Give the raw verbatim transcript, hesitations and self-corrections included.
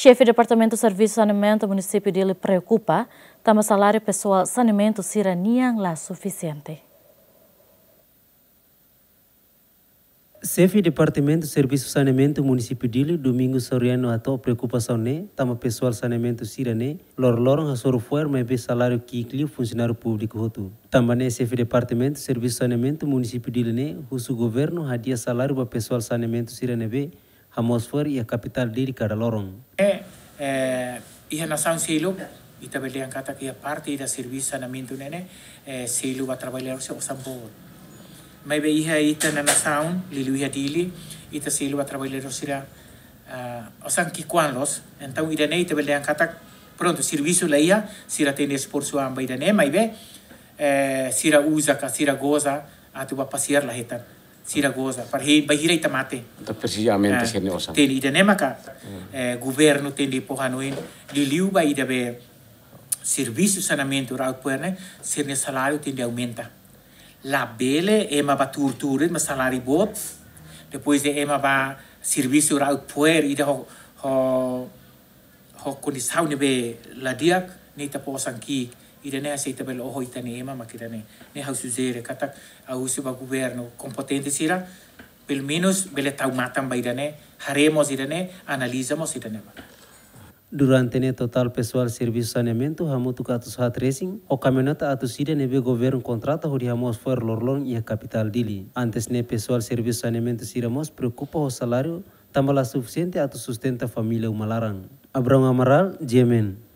Xefe Departamentu Servisu Saneamentu Munisípiu Dili preokupa tanba saláriu pesoál saneamentu sira-nian la sufisiente. Xefe Departamentu Servisu Saneamentu Munisípiu Dili, Domingos Soriano, hato'o preokupasaun ne'e tanba pesoál saneamentu sira-ne'e loroloron hasoru fo'er maibé saláriu ki'ik liu funsionáriu públiku hotu. Tanba ne'e Xefe Departamentu Servisu Saneamentu Munisípiu Dili ne'e husu governu hadi'a saláriu ba pesoál saneamentu sira ne'ebé hamoos fo'er iha kapitál Dili kada loron. Eh, eh, iha nasaun seluk, ita bele dehan katak iha parte ida servisu saneamentu ne'e ne'e, eh, selu ba traballadór sira osan boot. Maibé iha ita-nia nasaun, liuliu iha Dili, ita selu ba traballadór sira, ah, osan ki'ikoan loos. Entaun ida-ne'e ita bele dehan katak, prontu, servisu la iha, sira tenke esforsu an ba ida-ne'e, maibé, eh, sira uza ka, sira goza, atu ba pasiar la hetan. Sira goza, para he, bainhira ita mate. Entaun presiza aumenta, ah, sira-nia osan. Tenke ida-ne'e maka, eh, governu tenke fó hanoin, liuliu ba ida be servisu saneamentu ra'ut fo'er ne'e, sira-nia saláriu tenke aumenta. Labele ema ba tuur-tuur de'it mak saláriu boot. Depois de ema ba servisu ra'ut fo'er ida ho, ho, ho kondisaun ne'ebé la di'ak, ne'e ita fó osan ki'ik. Ida-ne'e hanesan ita bele oho ita-nia ema mak ida-ne'e. Ne'e ha'u sujere katak ha'u husu ba governu kompetente sira, pelumenus bele tau matan ba ida-ne'e, haree mós ida-ne'e, analiza mós ida-ne'e ba. Durante ne'e totál pesoál servisu saneamentu hamutuk atus haat resin, ho kamioneta atus ida ne'ebé governu kontrata hodi hamoos fo'er loroloron iha kapitál Dili. Antes ne'e pesoál servisu saneamentu sira mós preokupa ho saláriu tanba la sufisiente atu sustenta família uma laran. Abrão Amaral, G M N.